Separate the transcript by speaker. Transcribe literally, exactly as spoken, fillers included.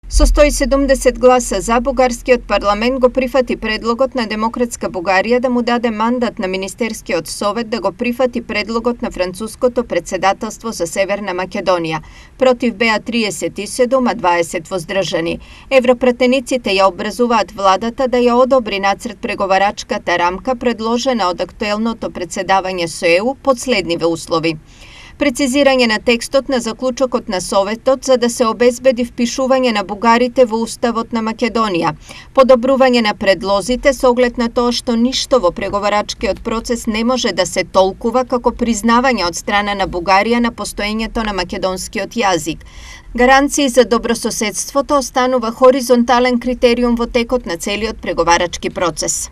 Speaker 1: Со сто и седумдесет гласа за, бугарскиот парламент го прифати предлогот на Демократска Бугарија да му даде мандат на Министерскиот совет да го прифати предлогот на француското председателство за Северна Македонија. Против беа триесет и седум, а дваесет воздржани. Европратениците ја образуваат владата да ја одобри нацрт преговарачката рамка предложена од актуелното председавање со Е У под следниве услови: прецизирање на текстот на заклучокот на Советот за да се обезбеди впишување на бугарите во Уставот на Македонија, подобрување на предлозите со оглед на тоа што ништо во преговарачкиот процес не може да се толкува како признавање од страна на Бугарија на постоењето на македонскиот јазик. Гаранции за добрососедството останува хоризонтален критериум во текот на целиот преговарачки процес.